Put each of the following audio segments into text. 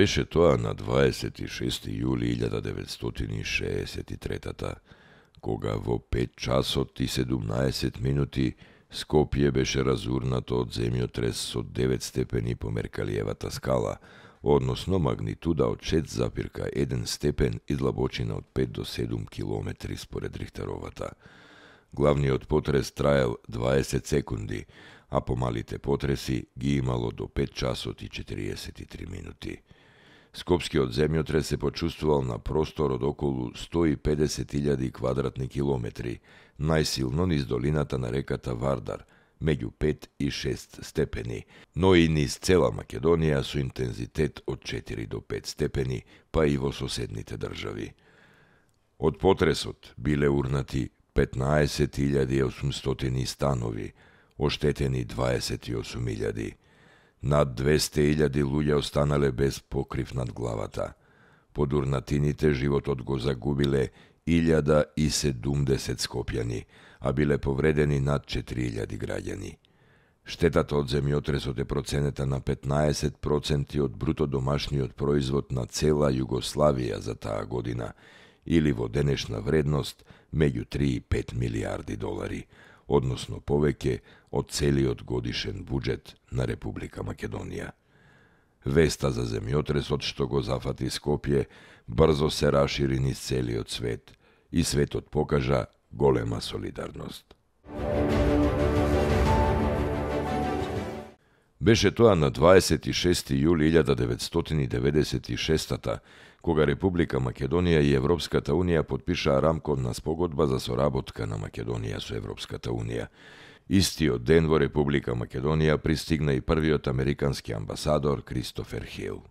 Беше тоа на 26. јули 1963, кога во 5 часот и 17 минути Скопје беше разурнато од земјотрес со 9 степени по Меркалиевата скала, односно магнитуда од 6,1 степен и длабочина од 5 до 7 километри според Рихтеровата. Главниот потрес траел 20 секунди, а помалите потреси ги имало до 5 часот и 43 минути. Скопскиот земјотрес се почувствувал на простор од околу 150.000 квадратни километри, најсилно низ долината на реката Вардар, меѓу 5 и 6 степени, но и низ цела Македонија со интензитет од 4 до 5 степени, па и во соседните држави. Од потресот биле урнати 15.800 станови, оштетени 28.000. Над 200.000 луѓе останале без покрив над главата. Под урнатините животот го загубиле 1070 скопјани, а биле повредени над 4.000 граѓани. Штетата од земјотресот е проценета на 15% од бруто домашниот производ на цела Југославија за таа година, или во денешна вредност меѓу 3 и 5 милиарди долари, односно повеќе од целиот годишен буџет на Република Македонија. Веста за земјотресот што го зафати Скопје брзо се рашири низ целиот свет и светот покажа голема солидарност. Беше тоа на 26. јули 1996, кога Република Македонија и Европската Унија подпишаа рамковна спогодба за соработка на Македонија со Европската Унија. Истиот ден во Република Македонија пристигна и првиот американски амбасадор Кристофер Хил.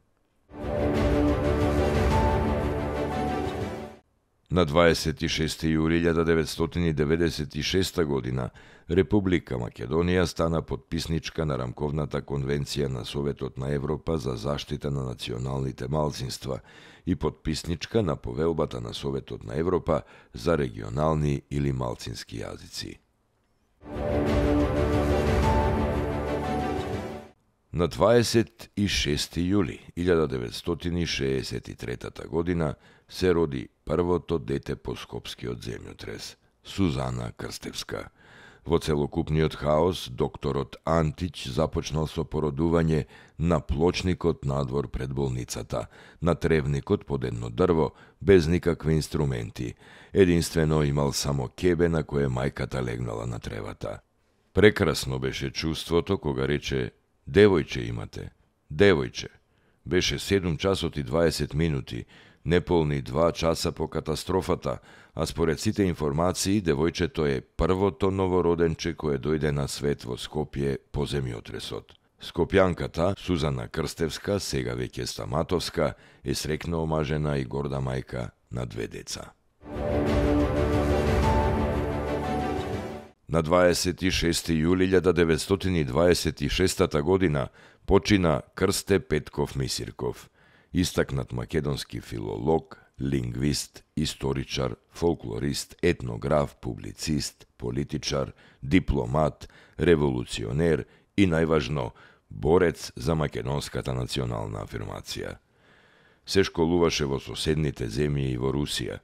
На 26. јули 1996 година Република Македонија стана потписничка на рамковната конвенција на Советот на Европа за заштита на националните малцинства и потписничка на повелбата на Советот на Европа за регионални или малцински јазици. На 26. јули 1963 година се роди првото дете по скопскиот земјотрес – Сузана Крстевска. Во целокупниот хаос, докторот Антич започнал со породување на плочникот надвор пред болницата, на тревникот под едно дрво, без никакви инструменти. Единствено имал само кебе на кое мајката легнала на тревата. Прекрасно беше чувството кога рече: "Девојче имате, девојче." Беше 7 часот и 20 минути, неполни 2 часа по катастрофата, а според сите информации, девојчето е првото новороденче кое дојде на свет во Скопје по земјотресот. Скопјанката, Сузана Крстевска, сега веќе стаматовска, е срекно омажена и горда мајка на 2 деца. На 26. јули 1926 година почина Крсте Петков Мисирков, истакнат македонски филолог, лингвист, историчар, фолклорист, етнограф, публицист, политичар, дипломат, револуционер и најважно борец за македонската национална афирмација. Се школуваше во соседните земји и во Русија.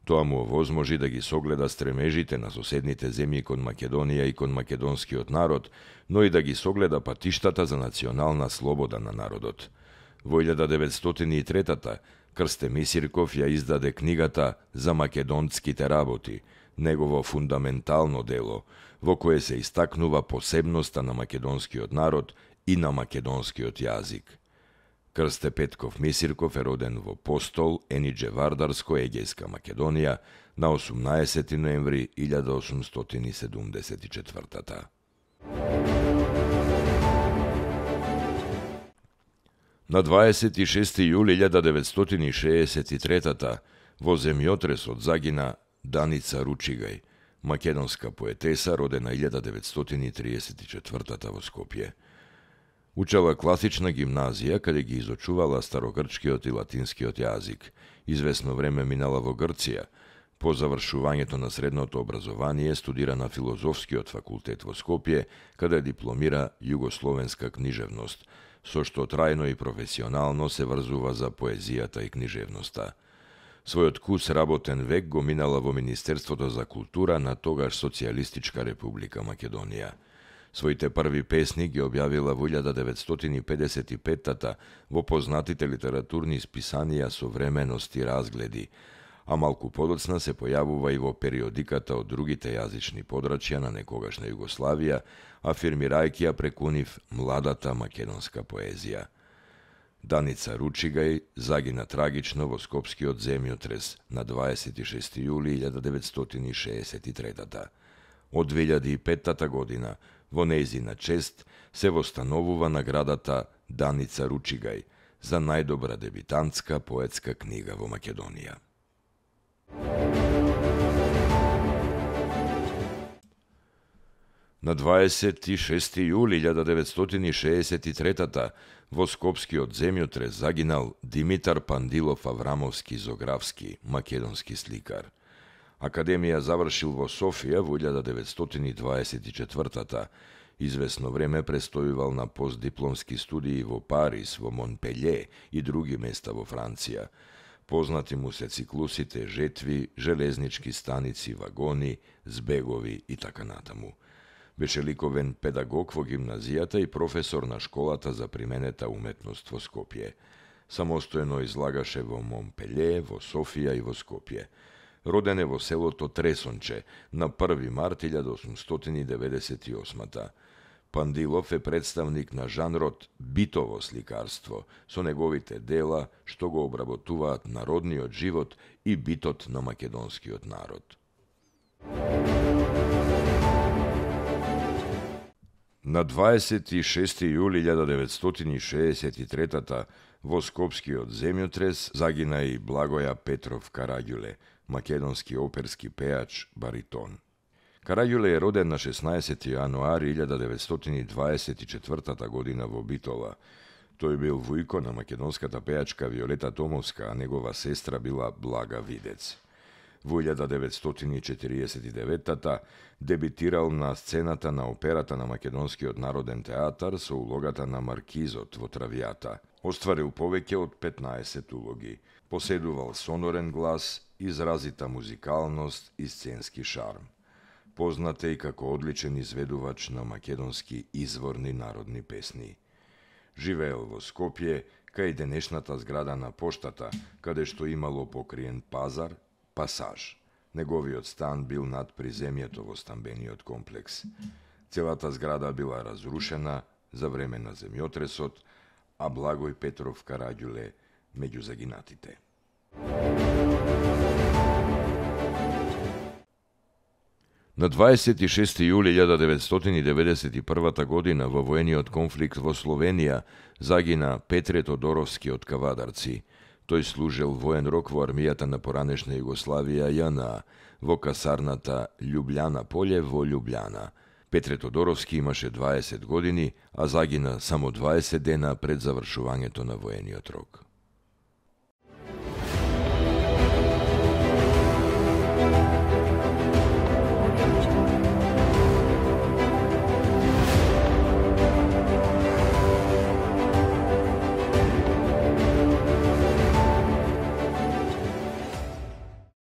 Тоа му овозможи да ги согледа стремежите на соседните земји кон Македонија и кон македонскиот народ, но и да ги согледа патиштата за национална слобода на народот. Во 1903 Крсте Мисирков ја издаде книгата "За македонските работи", негово фундаментално дело, во кое се истакнува посебноста на македонскиот народ и на македонскиот јазик. Крсте Петков Мисирков е роден во Постол, Енидже Вардарско, Егејска Македонија, на 18 ноември 1874. На 26. јули 1963 во земјотресот загина Даница Ручигај, македонска поетеса родена 1934 во Скопје. Учела класична гимназија, каде ги изучувала старогрчкиот и латинскиот јазик. Извесно време минала во Грција. По завршувањето на средното образование студира на Филозофскиот факултет во Скопје, каде дипломира југословенска книжевност, со што трајно и професионално се врзува за поезијата и книжевноста. Својот кус работен век го минала во Министерството за култура на тогаш Социјалистичка република Македонија. Своите први песни ги објавила во 1955-та во познатите литературни списанија Современост и Разгледи, а малку подоцна се појавува и во периодиката од другите јазични подрачја на некогашна Југославија, афирмирајќи ја преку нив младата македонска поезија. Даница Ручигај загина трагично во Скопскиот земјотрес на 26 јули 1963. Од 2005 година во нејзина чест се востановува наградата Даница Ручигај за најдобра дебитантска поетска книга во Македонија. На 26 јули 1963 во Скопскиот земјотрес загинал Димитар Пандилов Аврамовски-Зографски, македонски сликар. Академија завршил во Софија во 1924-та. Известно време престојувал на постдипломски студии во Париз, во Монпелје и други места во Франција. Познати му се циклусите Жетви, железнички станици, вагони, збегови и така натаму. Беше ликовен педагог во гимназијата и професор на школата за применета уметност во Скопје. Самостојно излагаше во Монпелје, во Софија и во Скопје. Роден е во селото Тресонче на 1 март 1898. Пандилов е представник на жанрот битово сликарство, со неговите дела што го обработуваат народниот живот и битот на македонскиот народ. На 26 јули 1963 во Скопскиот земјотрес загина и Благоја Петров Караѓуле, македонски оперски пеач, баритон. Караѓуле е роден на 16 јануари 1924 година во Битола. Тој бил вујко на македонската пеачка Виолета Томовска, а негова сестра била Блага Видец. Во 1949 дебитирал на сцената на операта на Македонскиот народен театар со улогата на Маркизот во Травијата. Остварил повеќе од 15 улоги. Поседувал сонорен глас, изразита музикалност и сценски шарм. Познат е и како одличен изведувач на македонски изворни народни песни. Живеел во Скопје, кај денешната зграда на поштата, каде што имало покриен пазар, Пасаж. Неговиот стан бил над приземјето во стамбениот комплекс. Целата зграда била разрушена за време на земјотресот, а Благој Петров Караѓуле меѓу загинатите. На 26 јули 1991 година во воениот конфликт во Словенија загина Петре Тодоровски од Кавадарци. Тој служел воен рок во армијата на поранешна Југославија ЈНА во касарната Љубљана поле во Љубљана. Петре Тодоровски имаше 20 години, а загина само 20 дена пред завршувањето на воениот рок.